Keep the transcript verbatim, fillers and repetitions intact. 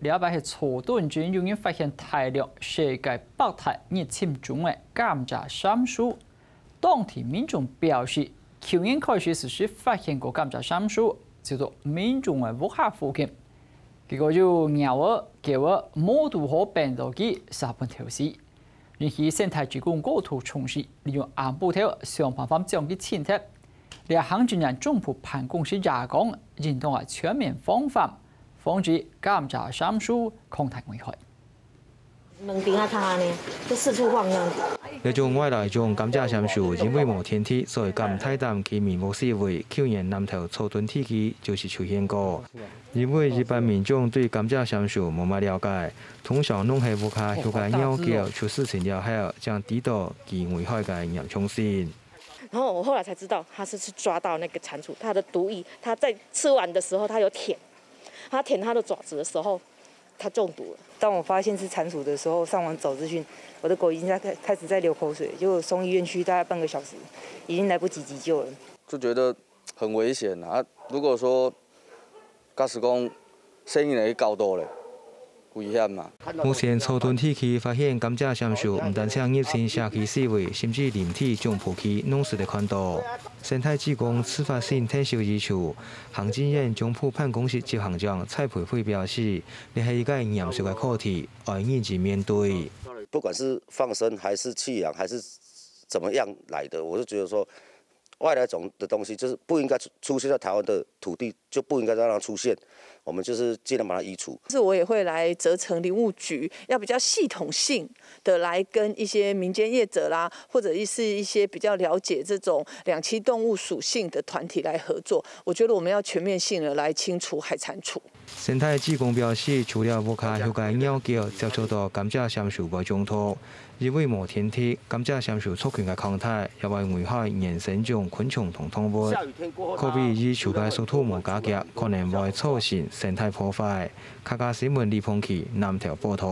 這擺係初冬正有人發現大量世界百大入侵種个甘蔗杉樹。當地民眾表示，舊年開始時就發現過甘蔗杉樹，就在民眾个屋下附近。結果有貓仔、狗仔無堵好拚到佢，煞分偷食。 引起生態志工高度重視，利用暗晡頭想辦法將佢清忒。這行政院總部辦公室也講，應當愛全面防範，防止甘蔗杉樹擴大危害。兩邊啊，看安尼，就四處晃這樣子。這種外來種甘蔗杉樹，因為無電梯，所以敢大膽去民屋四圍。舊年南投草屯地區就是出現過。因為一般民眾對甘蔗杉樹無麼了解， 通常攏係屋下畜个貓狗出事情了後，正知道佢危害个嚴重性。然后我后来才知道，他是去抓到那个蟾蜍，它的毒液，它在吃完的时候，它有舔，它舔它的爪子的时候，它中毒了。当我发现是蟾蜍的时候，上网找资讯，我的狗已经在开开始在流口水，结果送医院去大概半个小时，已经来不及急救了。就觉得很危险啊。啊如果说假使讲生意人去搞到咧，危险嘛。目前草屯地區發現甘蔗杉樹毋單淨入侵社區四圍，甚至林地總鋪區攏使得看到。生態志工自發性𢯭手移除，行政院總部辦公室執行長蔡培慧表示，這係一个嚴肅个課題，愛認真面對。不管是放生还是棄養还是怎么样来的，我就觉得说，外来种的东西就是不应该出出现在台湾的土地，就不应该让它出现。我们就是尽量把它移除。是我也会来责成林务局，要比较系统性的来跟一些民间业者啦，或者是一些比较了解这种两栖动物属性的团体来合作。我觉得我们要全面性的来清除海蟾蜍。生态志工表示，除了屋下畜个貓狗接觸到甘蔗杉樹會中毒，因為無天敵，甘蔗杉樹族群个擴大，也會危害原生種昆蟲同動物。可比移除个速度無加劇，可能會造成生態破壞。客家新聞李鵬奇南投報導。